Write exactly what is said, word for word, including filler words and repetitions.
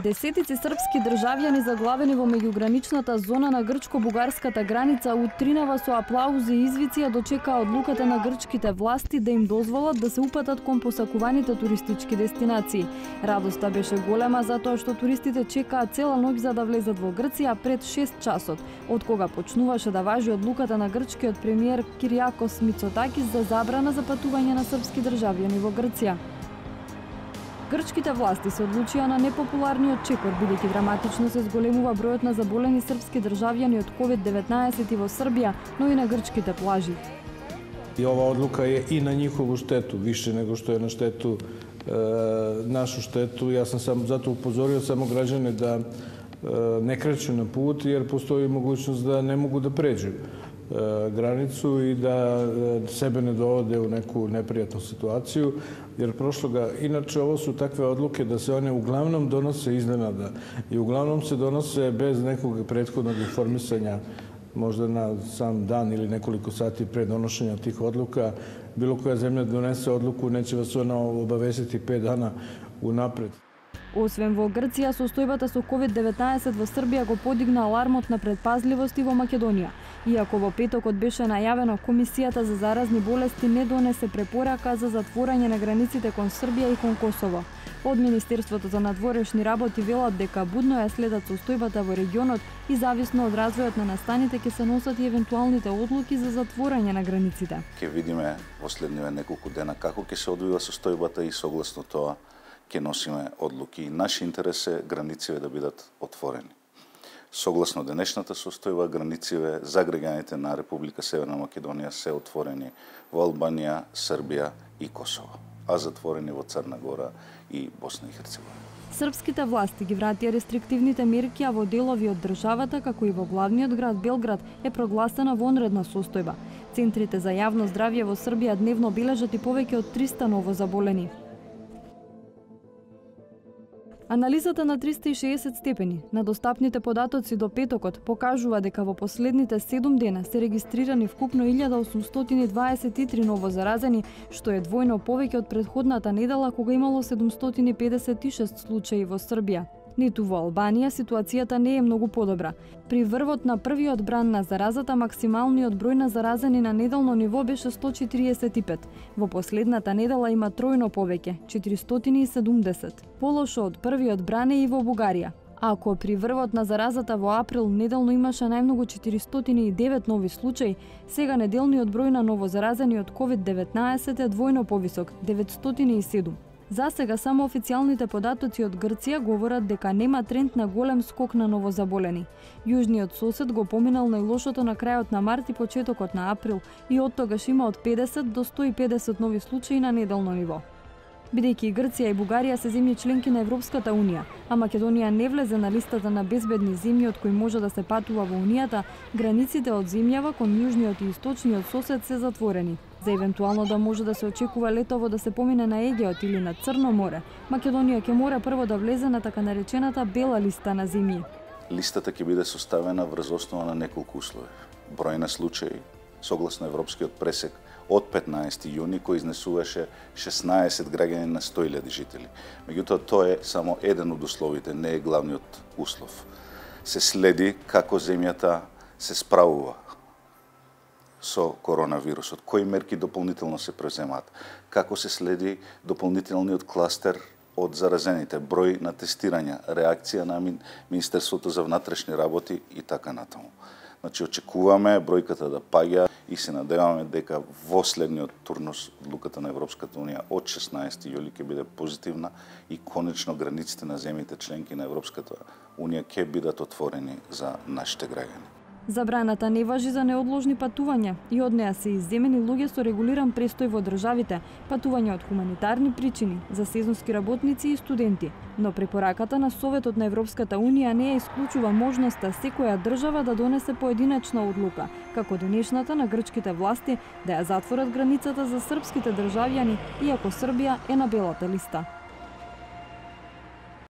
Десетици српски државјани заглавени во меѓуграничната зона на грчко-бугарската граница утринава со аплаузи и извици ја дочекаа одлуката на грчките власти да им дозволат да се упатат кон посакуваните туристички дестинации. Радоста беше голема затоа што туристите чекаа цела ноќ за да влезат во Грција пред шест часот, од кога почнуваше да важи одлуката на грчкиот премиер Кириакос Мицотакис за забрана за патување на српски државјани во Грција. Грчките власти се одлучија на непопуларниот чекор, бидејќи драматично се зголемува бројот на заболени српски државјани од ковид деветнаесет и во Србија, но и на грчките плажи. И ова одлука е и на нjihovu штету, више него што е на штету, е, нашу штету. Јас сам сам затоа упозорил само граѓани да е, не кречу на пут, jer постои могуćност да не могу да преđu границу и да себе не доводе у неку непријатну ситуацiju, jer прошлога, иначе ово су такве одлуке да се one углавном доносе изненада и углавном се доносе без неког претходnog информисања, možda na sam dan ili nekoliko sati pre donošenja tih odluka. Bilo koja zemlja donese odluku, neće vas ona obavestiti pet dana unapred. Освен во Грција, состојбата со ковид деветнаесет во Србија го подигна алармот на предпазливост и во Македонија. Иако во петокот беше најавено, Комисијата за заразни болести не донесе препорака за затворање на границите кон Србија и кон Косово. Од Министерството за надворешни работи велат дека будно ја следат состојбата во регионот и зависно од развојот на настаните ќе се носат и евентуалните одлуки за затворање на границите. Ќе видиме последниве неколку дена како ќе се одвива состојбата и согласно тоа ќе носиме одлуки. Наш интерес е границите да бидат отворени. Согласно денешната состојба, границите за граѓаните на Република Северна Македонија се отворени во Албанија, Србија и Косово, а затворени во Црна Гора и Босна и Херцеговина. Српските власти ги вратија рестриктивните мерки, а во делови од државата, како и во главниот град Белград, е прогласена вонредна состојба. Центрите за јавно здравје во Србија дневно бележат и повеќе од триста ново заболени. Анализата на триста и шеесет степени на достапните податоци до петокот покажува дека во последните седум дена се регистрирани вкупно илјада осумстотини дваесет и три ново заразени, што е двојно повеќе од претходната недела кога имало седумстотини педесет и шест случаи во Србија. Ниту во Албанија ситуацијата не е многу подобра. При врвот на првиот бран на заразата максималниот број на заразени на неделно ниво беше сто четириесет и пет. Во последната недела има тројно повеќе, четиристотини и седумдесет. Полошо од првиот бран е и во Бугарија. Ако при врвот на заразата во април неделно имаше најмногу четиристотини и девет нови случаи, сега неделниот број на новозаразени од ковид деветнаесет е двојно повисок, деветстотини и седум. За сега само официјалните податоци од Грција говорат дека нема тренд на голем скок на новозаболени. Јужниот сосед го поминал најлошото на крајот на март и почетокот на април и оттогаш има од педесет до сто и педесет нови случаи на неделно ниво. Бидејќи и Грција и Бугарија се земји членки на Европската унија, а Македонија не влезе на листата на безбедни земји од кои може да се патува во унијата, границите од земјава кон јужниот и источниот сосед се затворени. За евентуално да може да се очекува летово да се помине на Егеот или на Црно море, Македонија ќе мора прво да влезе на така наречената бела листа на земји. Листата ќе биде составена врз основа на неколку услови. Број на случаи, согласно европскиот пресек, од петнаесети јуни, кој изнесуваше шеснаесет граѓани на сто илјади жители. Меѓутоа, тоа е само еден од условите, не е главниот услов. Се следи како земјата се справува со коронавирусот, кои мерки дополнително се преземаат, како се следи дополнителниот кластер од заразените, број на тестирања, реакција на Министерството за внатрешни работи и така натаму. Значи, очекуваме бројката да паѓа и се надеваме дека во следниот турнус одлуката на Европската унија од шеснаесети јули ќе биде позитивна и конечно границите на земјите членки на Европската унија ќе бидат отворени за нашите граѓани. Забраната не важи за неодложни патувања и од неа се изземени луѓе со регулиран престој во државите, патувања од хуманитарни причини, за сезонски работници и студенти. Но препораката на Советот на Европската унија не ја исклучува можноста секоја држава да донесе поединачна одлука, како денешната на грчките власти да ја затворат границата за српските државјани, иако Србија е на белата листа.